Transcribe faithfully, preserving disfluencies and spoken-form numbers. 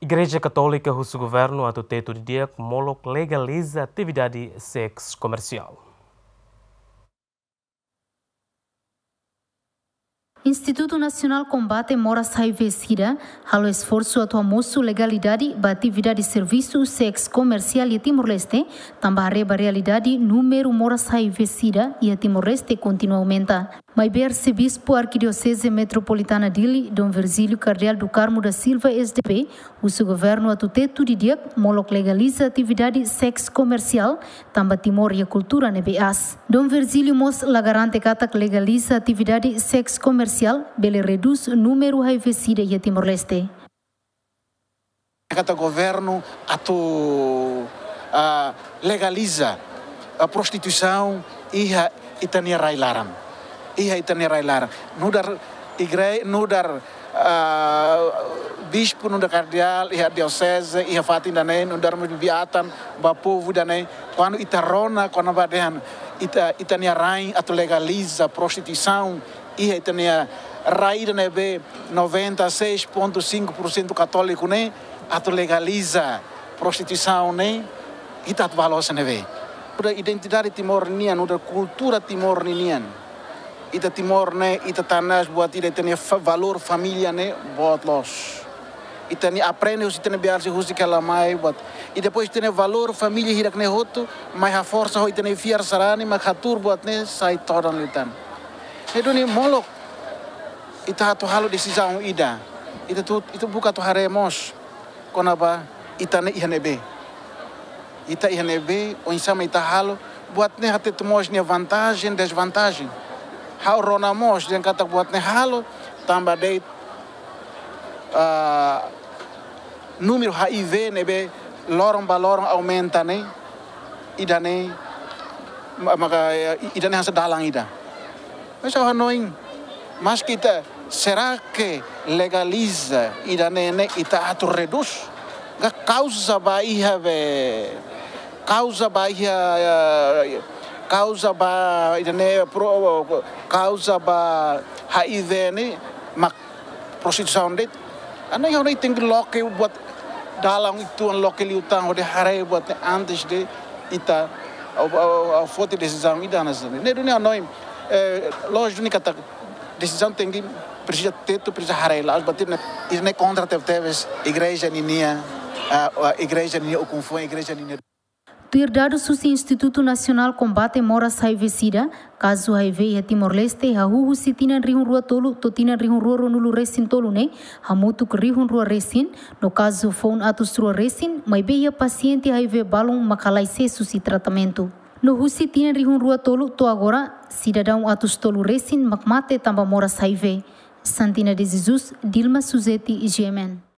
Igreja Katólika husu governu atu tetu didi'ak molok legaliza atividade seks komersiál. Institutu Nasionál Kombate Moras HIV SIDA halo esforsu atu hamosu legalidade ba atividade servisu seks komersiál iha Timor-Leste, tanba haree ba realidade númeru moras HIV SIDA iha Timor-Leste kontinua aumenta. Maibé Arsebispu Arkidioseze Metropolitana Dili, Dom Virgílio Kardeál do Carmo da Silva, S D B, husu governu atu tetu didi'ak molok legaliza atividade seks komersiál, tanba Timor iha kultura ne'ebé aas. Dom Virgílio mós la garante katak legaliza atividade seks komersiál bele redús númeru HIV SIDA iha Timor-Leste. Katak governu atu, ah, legaliza, ah, prostituisaun iha ita-nia rai-laran. Iha ita-nia rai-laran. Nu'udar igre-, nu'udar, ah, bispu, nu'udar kardeál, iha dioseze, iha fatin ida-ne'e, nu'udar mós bibi-atan ba povu ida-ne'e. Kuandu ita rona, kuandu ba dehan, ita, ita-nia rain atu legaliza prostituisaun, iha ita-nia rai ida ne'ebé noventa e seis ponto cinco por cento katóliku ne'e, atu legaliza prostituisaun ne'e, ita atu bá loos iha ne'ebé? Nu'udar identidade Timor nian, nu'udar kultura Timor ninian. Ita Timor ne'e, ita tanas buat ida, ita-nia fa-, valór família ne'e boot loos. Ita-nia aprende husi ita-nia biar si husi kela mai buat. I depois ita-nia valór família hirak ne'e hotu, mai haforsa ho ita-nia fiar sarani, mak hatuur buat ne'e sai todan liután. Ne'e duni molok ita atu halo desizaun ida. Ita atu, ita buka atu haree mós kona-ba ita ne'e iha ne'ebé. Ita iha ne'ebé, oinsá mak ita halo, buat ne'e hatete mós nia vantajen, dezvantajen. Ha'u rona mós, dehan katak buat ne'e halo, tanba de'it, ah, númeru HIV ne'ebé loron ba loron aumenta ne'e, ida-ne'e, ma-, maka, eh, ida-ne'e hanesan dalan ida. Mas ha'u hanoin, maske ita, será que legaliza ida-ne'e ne'e ita atu redús? Ka kauza ba iha be, kauza ba iha, eh, kauza ba ida-ne'e pro-, kauza ba HIV ne'e mak prostituisaun de'it. Ha'u hanoin, ha'u hanoin tenke loke buat dalan uitoan, loke liután hodi haree buat ne'e antes de ita, ah, ah, ah, foti desizaun ida hanesan ne'e. Ne'e duni ha'u hanoin, eh, lójiku duni katak desizaun tenke, presiza tetu, presiza haree la'o, buat ne'e, ne'e kontra tebetebes igreja ninia, ah, ah, igreja ninia ukun-fuan, igreja ninia. Tuir dadus husi Institutu Nasionál Kombate Moras HIV SIDA, kazu HIV iha Timor-Leste hahú husi tinan rihun rua tolu to'o tinan rihun rua ruanulu resin tolu ne'e hamutuk rihun rua resin, no kazu foun atus rua resin, maibé iha pasiente HIV balun mak halai sees husi tratamentu. No husi tinan rihun rua tolu to'o agora, sidadaun atus tolu resin mak mate tanba moras HIV. Santina de Jesus, Dilma Suzeti, GMN.